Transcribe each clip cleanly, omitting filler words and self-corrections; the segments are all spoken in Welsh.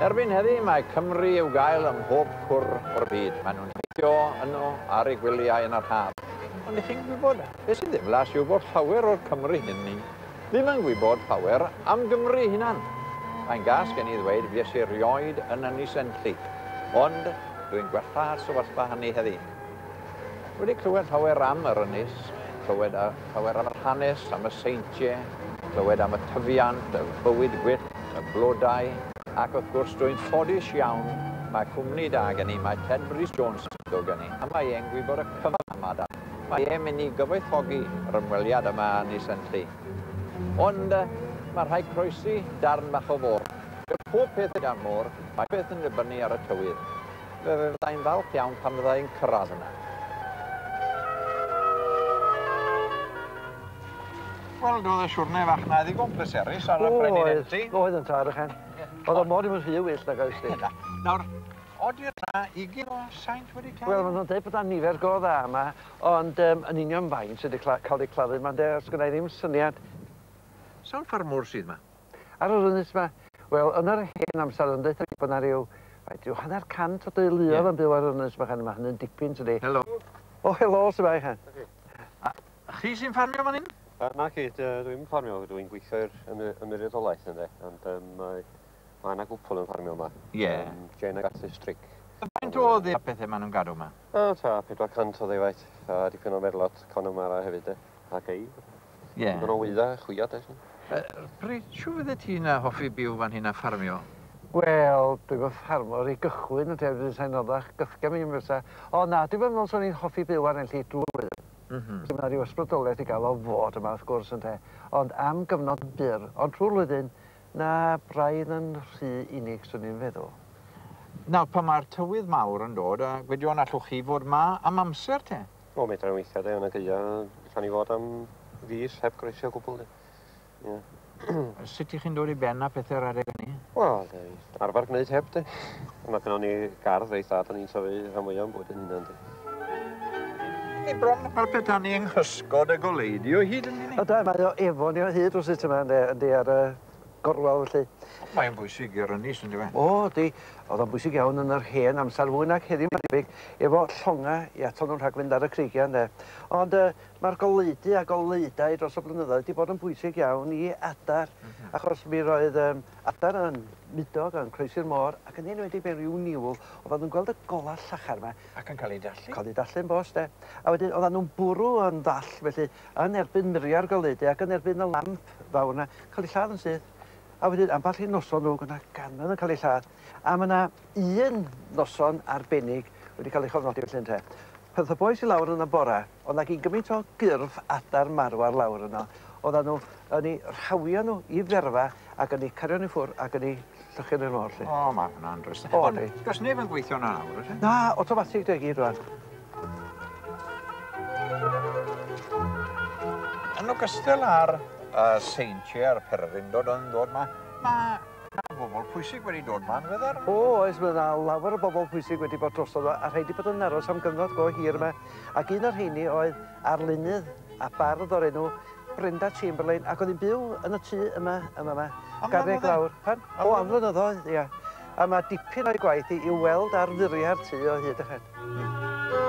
Erbyn heddi mae Cymru i'w gael ym mhob cwr o'r byd. Maen nhw'n teithio yno ar eu gwyliau yn yr haf. Ond ych chi'n gwybod, beth sy'n ddiflas yw bod llawer o'r Cymry hynny ddim yn gwybod llawer am Gymru hunan. Mae'n gas gen i ddweud fues i rioed yn Ynys Enlli, ond dwi'n gwella'r sefyllfa hynny heddi. Wedi clywed llawer am yr ynys, clywed llawer am yr hanes, am y seintiau, clywed am y tyfiant, y bywyd gwyllt, y blodau, ac wrth gwrs dwi'n ffodus iawn, mae cwmni da gen i, mae Ted Rhys Jones yn dod gen i, a mae e'n gwybod y cyfan am adar. Mae e'n mynd i gyfoethogi yr ymweliad yma yn Ynys Enlli. Ond mae rhaid croesi darn bach o fôr. Pob peth gyda'r môr, mae peth yn dibynnu ar y tywydd. Fe fyddai'n falch iawn pan fyddai'n cyrraedd yna. Wel, doedd y siwrne fach na ddigon pleserus ar y Brenin Enlli. Oedd yn tad, ychan. Oedd o mor ddim yn rhy wyllt nag oes di. Nawr, oeddi'r na 20 o saint wedi claddu? Wel, maen nhw'n dweud bod 'na nifer go dda yma, ond yn union faint sydd wedi cael eu claddu yma, ynde, os gynna i ddim syniad. Sawl ffarmwr sydd yma? Ar yr ynys yma? Wel, yn yr hen amser, yn dweud bod 'na ryw, faint, ryw 150 o deuluoedd yn byw ar yr ynys yma, mae hynny'n dipyn, tydi? Helo. O, helo, s'mai, chan. A chi sy'n ffarmio fan hyn? Na ci, dwi'n ffarmio, dwi'n gweithio i'r ymddiriedolaeth ynde, ond mae yna gwpl yn ffarmio yma. Ie. Jane ac Arthur Strick. Faint o dde pethau maen nhw'n gadw yma? O, ta, 400 o ddefaid, a dipyn o merlod Connemara hefyd, de, a geifr. Ie. Dipyn o wydda, chwiad, de. Pryd, siw fydde ti'n hoffi byw fan hyn a ffarmio? Wel, dwi'n yn ffarmwr i gychwyn yn tebyg sa'n oddach gythga mi fysa. O na, dwi'n meddwl swn i'n hoffi byw ar Enlli drwy'r flwyddyn. Mae yna ryw ysbrydoliaeth i gael o fod yma, wrth gwrs, ynte. Ond am gyfnod byr, ond trwy'r flwyddyn, na braidd yn rhy unig, swn i'n feddwl. Nawr, pan mae'r tywydd mawr yn dod, a gwedion allwch chi fod ma am amser te? O, medra weithiau, de, yn y gaea, allan ni fod am fis heb groesi o gwbl, de. Ie. Sut ych chi'n dod i ben â pethau'r adeg hynny? Wel, arfer gwneud heb, de. Mae gynnon ni gardd reit dda, da ni'n tyfu rhan fwyaf o'n bwyd yn hunan, de. Ni bron fel petai ni yng nghysgod y goleudy o hyd yn ni? O da, mae o efo ni o hyd rywsut yma, ynde, yndi, ar y gorwel felly. Mae'n bwysig i'r ynys, yndyw e? O, di. Oedd o'n bwysig iawn yn yr hen amser, fwy nag heddiw, mae'n debyg, efo llongau i atal nhw'n rhag fynd ar y creigiau, ynde. Ond mae'r goleudy a goleudau dros y blynyddoedd wedi bod yn bwysig iawn i adar, achos mi roedd adar yn mudo ac yn croesi'r môr, ac yn enwedig mewn rhyw niwl, oedden nhw'n gweld y golau llachar yma. Ac yn cael eu dallu. Cael eu dallu'n bost, de. A wedyn oedden nhw'n bwrw yn ddall, felly, yn erbyn muriau'r goleudy ac yn erbyn y lamp fawr yna, cael eu lladd yn syth. A wedyn, ambell i noson nhw, gyda gannoedd yn cael eu lladd. A mae yna un noson arbennig wedi cael ei chofnodi felly ynte. Pan ddoth y bois i lawr yn y bora, oedd 'na gyn gymaint o gyrff adar marw ar lawr yno. Oedden nhw yn eu rhawio nhw i ferfa ac yn eu cario nhw i ffwrdd ac yn eu llychu yn y môr, 'lly. O, mae hwnna'n drist. O, Ond, yndi. does neb yn gweithio yna nawr, oes e? Na, automatic 'di o gyd rŵan. Yn ogystal â'r seintiau a'r pererindod yn dod 'ma, mae bobl pwysig wedi dod 'ma yn ddiweddar. O, oes, mae yna lawer o bobl pwysig wedi bod drosodd a rhai wedi bod yn aros am gyfnod go hir yma. Ac un o'r rheini oedd arlunydd a bardd o'r enw Brenda Chamberlain, ac oedd hi'n byw yn y tŷ yma, yma, Am garreg flynyddoedd? lawr. Pan? O, am flynyddoedd, ia. A mae dipyn o'i gwaith hi i'w weld ar furiau'r tŷ o hyd, ychan.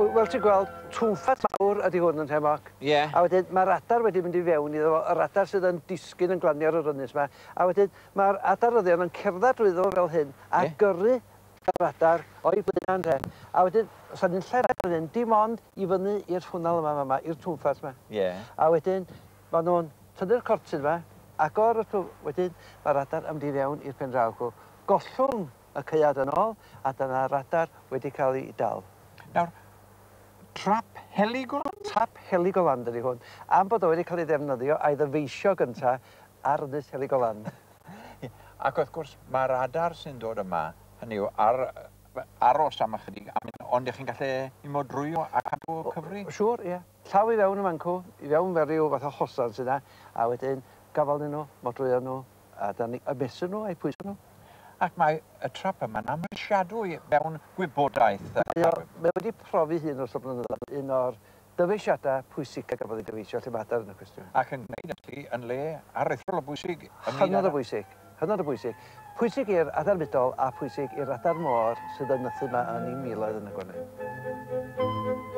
Wel, ti'n gweld, twmffat mawr ydy hwn yn Nhemoc. Ie. A wedyn mae'r adar wedi mynd i fewn iddo fo, yr adar sydd yn disgyn yn glanio ar yr ynys yma. A wedyn mae'r adaryddion yn cerdded drwyddo fo fel hyn a gyrru yr adar o'i blaenau ynte. A wedyn, os ydy'n lle'r adar hyn, dim ond i fyny i'r twnnel yma, yma, i'r twmffat yma. Ie. A wedyn, maen nhw'n tynnu'r cortyn yma, agor y twm, wedyn mae'r adar yn mynd i fewn i'r pen draw. Gollwng y caead yn ôl, a dyna'r adar wedi cael ei dal. Nawr, trap Heligoland? Trap Heligoland ydy hwn, am bod o wedi cael ei ddefnyddio a'i ddyfeisio gynta ar ynys Heligoland. Ac wrth gwrs, mae'r adar sy'n dod yma, hynny yw, ar, aros am ychydig, ond ych chi'n gallu i modrwyo a cadw cyfri? Siŵr, ie. Llaw i fewn y mancw, i fewn fel rhyw fath o hosan sydd yna, a wedyn gafal nhw, modrwyo nhw, a dan ni ymesur nhw a'u pwyso nhw. Ac mae y trap yma'n amhrisiadwy mewn gwybodaeth. Mae wedi profi hun dros y blynyddoedd, un o'r dyfeisiadau pwysica gafodd ei dyfeisio lle mae adar yn y cwestiwn. Ac yn gwneud hynny yn le aruthrol o bwysig. Hynod o bwysig, hynod o bwysig. Pwysig i'r adar mudol a pwysig i'r adar môr sydd yn nythu yma yn ei miloedd yn y gwanwyn.